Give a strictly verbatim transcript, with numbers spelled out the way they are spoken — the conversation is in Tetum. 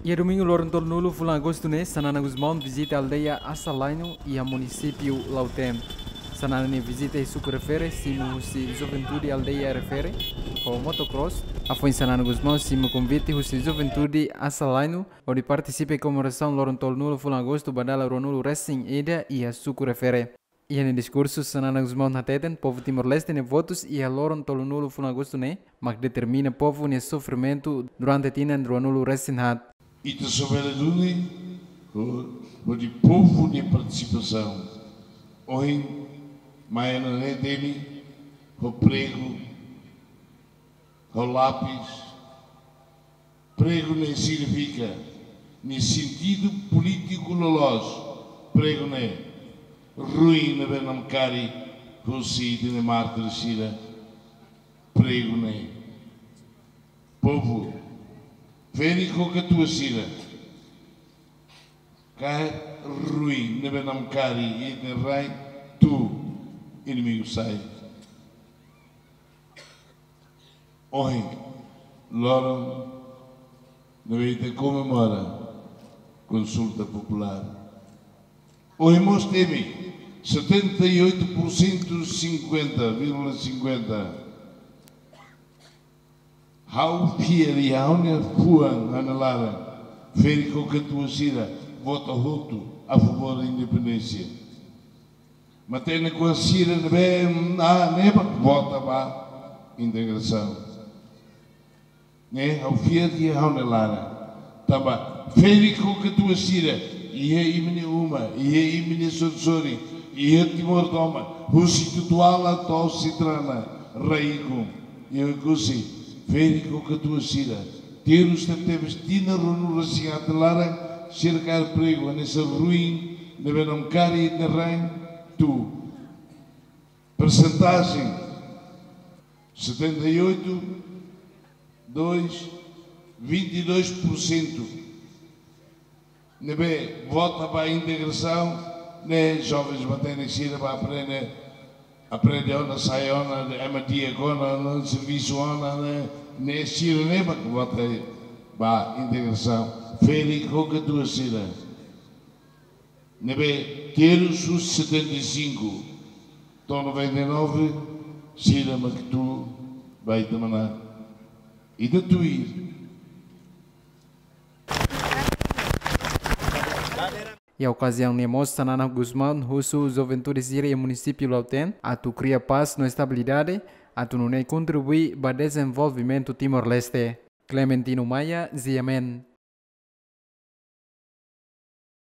Iha domingu loron tolunulu fulan agostu ne'e, Xanana Gusmão vizita aldeia Asalainu iha munisípiu Lautém. Xanana nia vizita iha suku refere, simu husi juventude aldeia refere ho motocross. Hafoin Xanana Gusmão simu konvite husi juventude Asalainu hodi partisipa iha komemorasaun loron tolunulu fulan agostu ba dala ruanulu resin ida iha suku refere. Iha nia diskursu, Xanana Gusmão hateten povu Timor-Leste nia votus iha loron tolunulu fulan agostu ne'e mak determina povu nia sofrimentu durante tinan ruanulu resin haat. Ita só bele duni ho, hodi povu nia partisipasaun. Ohin mai ona ne'e temi ho pregu, ho lapis. Pregu ne'e signifika, nia sentidu polítiku loloos. Pregu ne'e ruin ne'ebé namkari husi ita-nia mártir sira. Pregu ne'e, povu, ferik ho katuas sira, kaer ruin ne'ebé namkari iha ita-nia rain, tuur inimigu sai. Ohin, loron ne'ebé ita komemora konsulta populár. Ohin mós temi setenta e oito por cento, cinquenta vírgula cinquenta. Ha'u fiar iha ha'u-nia fuan, ha'u-nia laran, ferik ho katuas sira vota hotu a favór independénsia. Matenek-oan sira ne'ebé, ah, ne'ebá vota ba integrasaun. Ne'e ha'u fiar iha ha'u-nia laran. Tanba ferik ho katuas sira iha imi-nia uma, iha imi-nia sorin-sorin, iha Timor tomak, husi Tutuala to'o Citrana, Raikun, iha Oekusi, ferik ho katuas sira. Terus tebetebes tinan ruanulu resin haat nia laran, sira kaer pregu hanesan ruin ne'ebé namkari ita-nia rain, tuur. Persentajen setenta e oito, dois, vinte e dois por cento ne'ebé vota ba integrasaun, ne'e jovens matenek sira ba aprende, aprende ona, sai ona, ema di'ak ona, no servisu ona, ne'e, ne'e sira ne'ebé vota ba integrasaun. Ferik ho katuas sira ne'ebé terus husi setenta e cinco to'o noventa e nove, sira mak tuur ba ita manán. Ita tuir. Iha okaziaun ne'e mós Xanana Gusmão husu juventude sira iha munisípiu Lautém atu kria pás no estabilidade, atu nune'e kontribui ba dezenvolvimentu Timor-Leste. Clementino Maia, G M N.